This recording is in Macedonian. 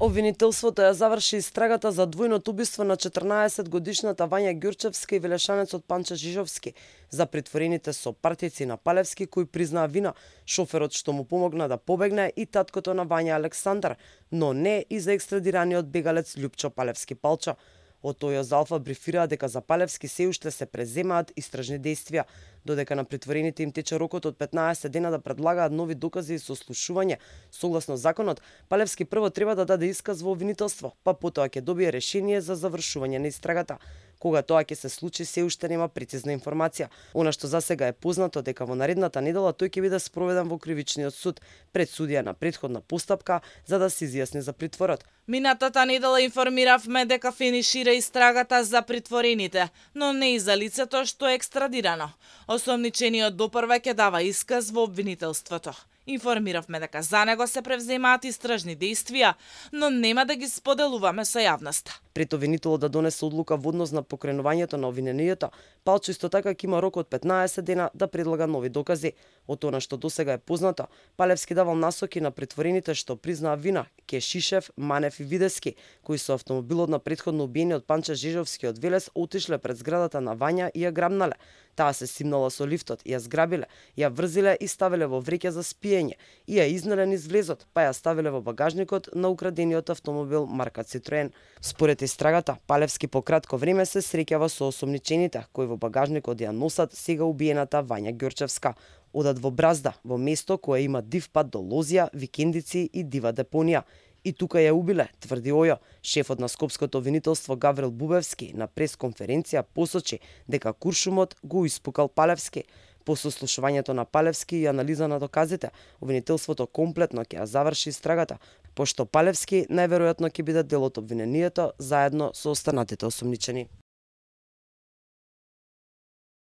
Обвинителството ја заврши истрагата за двојното убиство на 14-годишната Вања Ѓурчевска и велешанецот Панче Жижовски, за притворените сопартици на Палевски кои признаа вина, шоферот што му помогна да побегне и таткото на Вања Александар, но не и за екстрадираниот бегалец Љупчо Палевски Палча. Од тој Алфа брифираа дека за Палевски се уште се преземаат истражни действија, додека на притворените им тече рокот од 15 дена да предлагаат нови докази и сослушување. Согласно законот, Палевски прво треба да даде исказ во обвинителство, па потоа ќе добие решение за завршување на истрагата. Кога тоа ќе се случи, се уште нема прецизна информација. Она што засега е познато дека во наредната недела тој ќе биде спроведен во кривичниот суд пред судија на претходна постапка за да се изјасни за притворот. Минатата недела информиравме дека финишира истрагата за притворените, но не и за лицето што е екстрадирано. Осомничениот допрва ќе дава исказ во обвинителството. Информиравме дека за него се превземаат истражни действија, но нема да ги споделуваме со јавноста. Пред обвинителот да донесе одлука во однос на покренувањето на обвиненијата, Палчо исто така ќе има рок од 15 дена да предлага нови докази. Од она што досега е познато, Палевски давал насоки на притворените што признаа вина, Кешишев, Манев и Видески, кои со автомобилот на претходно убиениот Панче Жижовски од Велес отишле пред зградата на Вања и ја грабнале. Таа се симнала со лифтот, ја зграбиле, ја врзиле и ставиле во вреќа за спиење и ја изнеле низ влезот, па ја ставиле во багажникот на украдениот автомобил марка Цитроен. Според истрагата, Палевски по кратко време се среќава со осомничените, кои во багажникот ја носат сега убиената Вања Ѓурчевска. Одат во Бразда, во место кое има див пат до Лозија, викендици и дива депонија. И тука ја убиле, тврди Ојо. Шефот на Скопското обвинителство Гаврил Бубевски на пресконференција посочи дека куршумот го испукал Палевски. По сослушувањето на Палевски и анализа на доказите, обвинителството комплетно ќе ја заврши истрагата, пошто Палевски најверојатно ќе биде дел од обвинението заедно со останатите осомничени.